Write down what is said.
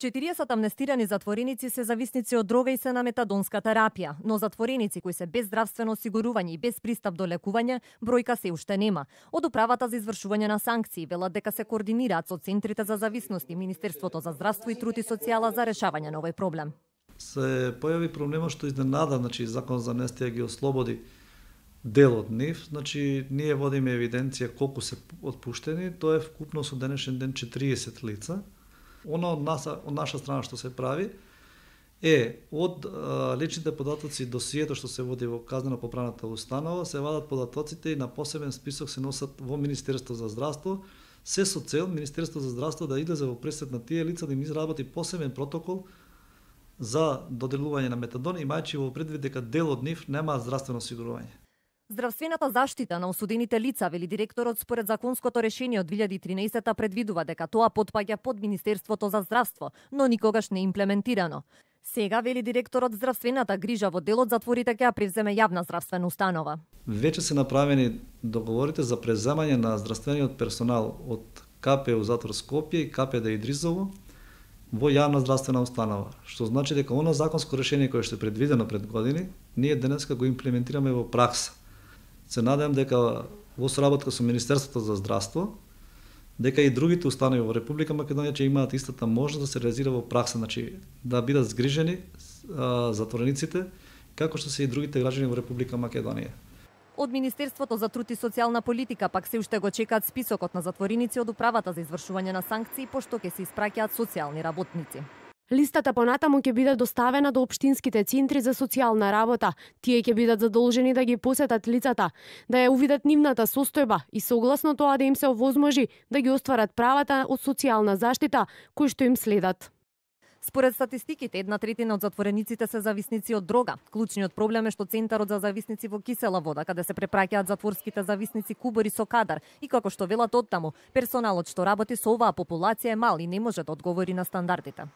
40 амнестирани затвореници се зависници од дрога и се на метадонска терапија, но затвореници кои се без здравствено осигурување и без пристап до лекување, бројка се уште нема. Од управата за извршување на санкции велат дека се координираат со центрите за зависности, Министерството за здравство и труд и социјала за решавање на овој проблем. Се појави проблемот што изненада, Закон за амнестија ги ослободи дел од нив, ние водиме евиденција колку се отпуштени, тоа е вкупно со денешен ден 40 лица. Она од наша страна што се прави е од личните податоци досието што се води во казнено-поправната установа, се вадат податоците и на посебен список се носат во Министерство за здравство, се со цел Министерство за здравство да излезе во пресед на тие лица да им изработи посебен протокол за доделување на метадон, имајќи во предвид дека дел од нив немаат здравствено осигурување. Здравствената заштита на осудените лица, вели директорот, според законското решение од 2013 предвидува дека тоа потпаѓа под Министерството за здравство, но никогаш не имплементирано. Сега, вели директорот, здравствената грижа во делот затворите ќе ја превземе јавна здравствена установа. Веќе се направени договорите за преземање на здравствениот персонал од КПУ затвор Скопје и КПД Идризово во јавна здравствена установа, што значи дека оно законско решение кое што е предвидено пред години, ние денеска го имплементираме во пракса. Се надевам дека во соработка со Министерството за здравство, дека и другите установи во Република Македонија ќе имаат истата можност да се реализира во пракса, да бидат згрижени затворениците, како што се и другите граѓани во Република Македонија. Од Министерството за труд и социјална политика пак се уште го чекаат списокот на затвореници од управата за извршување на санкции, пошто ќе се испраќаат социјални работници. Листата понатаму ќе биде доставена до општинските центри за социјална работа. Тие ќе бидат задолжени да ги посетат лицата, да ја увидат нивната состојба и согласно тоа да им се овозможи да ги остварат правата од социјална заштита кои што им следат. Според статистиките, 1/3 од затворениците се зависници од дрога. Клучниот проблем е што Центарот за зависници во кисела вода, каде се препраќаат затворските зависници кубори со кадар, и како што велат оттаму, персоналот што работи со оваа популација е мал и не може да одговори на стандардите.